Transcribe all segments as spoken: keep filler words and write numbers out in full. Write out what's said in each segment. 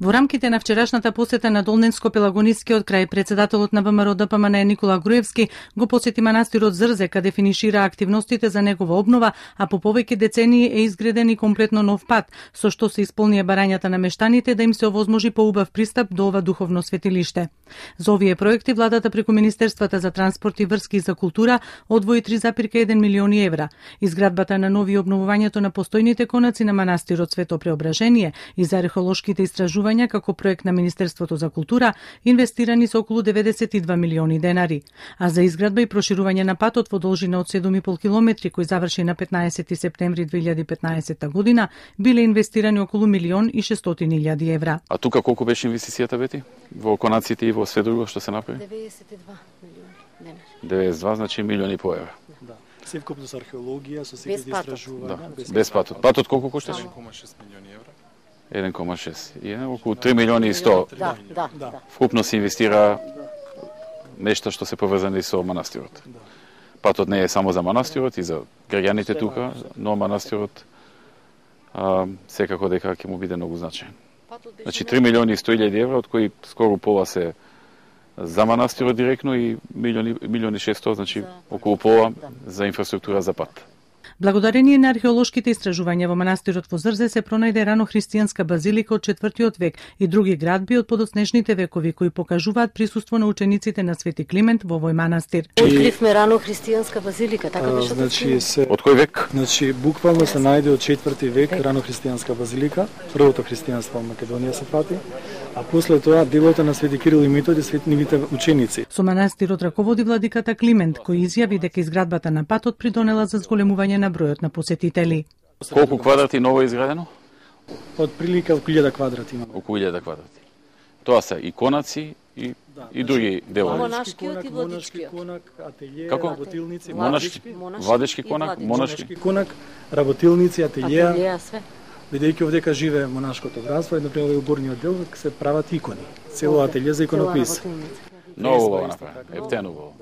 Во рамките на вчерашната посета на Долненско-Пелагонискиот крај, председателот на ВМРО Д П М Н Никола Груевски го посети манастирот Зрзе, каде финишира активностите за негова обнова, а по повеќе децении е изграден и комплетно нов пат, со што се исполнија барањата на мештаните да им се овозможи поубав пристап до ова духовно светилиште. За овие проекти владата преку Министерствата за транспорт и врски и за култура одвои три зарез еден милиони евра. Изградбата на нови и обновувањето на постојните конаци на манастирот Свето Преображение и за археолошките истражувања како проект на Министерството за култура инвестирани со околу деветдесет и два милиони денари, а за изградба и проширување на патот во должина од седум и пол километри кој заврши на петнаесети септември две илјади и петнаесетта година биле инвестирани околу милион и шестстотини илјади евра. А тука колку беше инвестицијата, Бети? Во конаците и во све друго што се направи? деветдесет и два милиони денари. деветдесет и два, значи милиони по евра. Да. Севкупно со археологија, со секој истражување. Да. Без, без патот. Патот колку кошташе? еден кома шест милиони евра. еден кома шест. И е околу три милиони и сто. Да, да, да. Вкупно се инвестира нешто што се поврзани со манастирот. Патот не е само за манастирот и за граѓаните тука, но манастирот а, секако дека ќе му биде многу значаен. Значи три милиони и сто илјади евра, од кои скоро пола се за манастирот директно и милиони милиони шестстотини, значи околу пола за инфраструктура за пат. Благодарение на археолошките истражувања во манастирот во Зрзе се пронајде рано христијанска базилика од четвртиот век и други градби од подоснежните векови кои покажуваат присуство на учениците на Свети Климент во овој манастир. Откривме рано христијанска базилика, така беше. Значи се Од кој век? Значи буквално се најде од четврти век рано христијанска базилика, првото христијанство во Македонија се фати, а после тоа делото на Свети Кирил и Методи, светните ученици. Со манастирот раководи владиката Климент, кој изјави дека изградбата на патот придонела за зголемување на бројот на посетители. Колку квадрати ново изградено? Од прилика околу илјада квадрати има. Околу илјада квадрати. Тоа се и конаци и Да, и други делови. Монашкиот и монашки владичкиот. конак, ателје, Како? работилници, Монашки, Монашки владички и конак, владички. монашки. монашки конак, работилници, ателјеа. Ателјеа, све. Бидејќи овдека живее монашкото братство, и например во горниот дел се прават икони. Цело ателје за иконопис. Многу убаво направено, ептено убаво.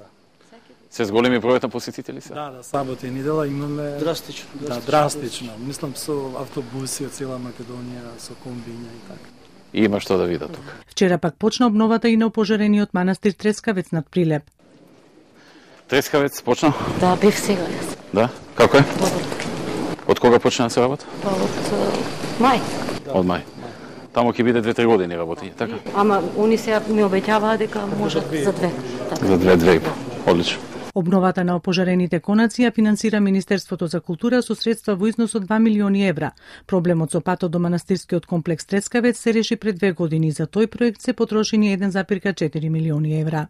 Се зголеми бројот на посетители се? Да, да, сабота и недела имаме Драстично. Да, драстично. Мислам со автобуси од цела Македонија, со комбиња и така. И има што да видат тука. Вчера пак почна обновата и на опожарениот манастир Трескавец над Прилеп. Трескавец почна? Да, бев сега јас. Да? Како е? Добро. Од кога почна да се работа? Па од е, мај. Од мај. Таму ќе биде две-три години работење, така? Ама они сега ми обеќаваа дека можат за две. Така. За две-две и пол. Одлично. Обновата на опожарените конаци ја финансира Министерството за култура со средства во износ од два милиони евра. Проблемот со патот до манастирскиот комплекс Трескавец се реши пред две години. За тој проект се потрошени еден зарез четири милиони евра.